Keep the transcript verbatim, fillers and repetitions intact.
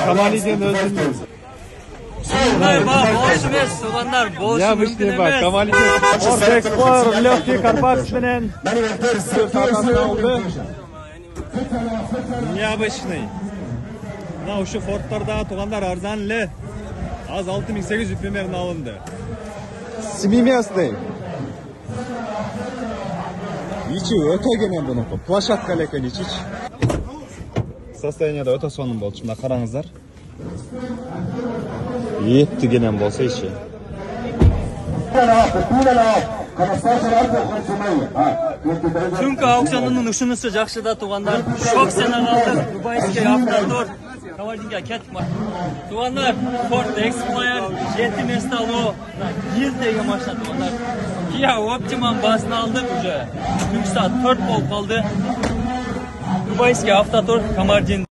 Камалиден өзүн болуш эмес, туугандар, болуш мүмкүн эмес. Камалиден орто эксплорер легкий Карпакс менен алды. Необычный. Мына ушу Фордтордагы туугандар арзан эле. Az алты миң сегиз жүз примерно алынды. Семиместный. Ичи өтө кенен бунуку. Площадка эле экен ичи. Состоянияда өтө сонун болчу. Мына караңыздар. Эпти кенен болсо ичи. Түнкү аукционунун ушунусу жакшы да туугандар. Шок сенага Дубайский автотор Кавардинге кеттик ма. Туугандар, Ford Explorer жети место алуу. Бир деген машина туугандар. Kia Optima басын алдык уже. Түнкү саат төрт болуп калды. Дубайский автотор Камардин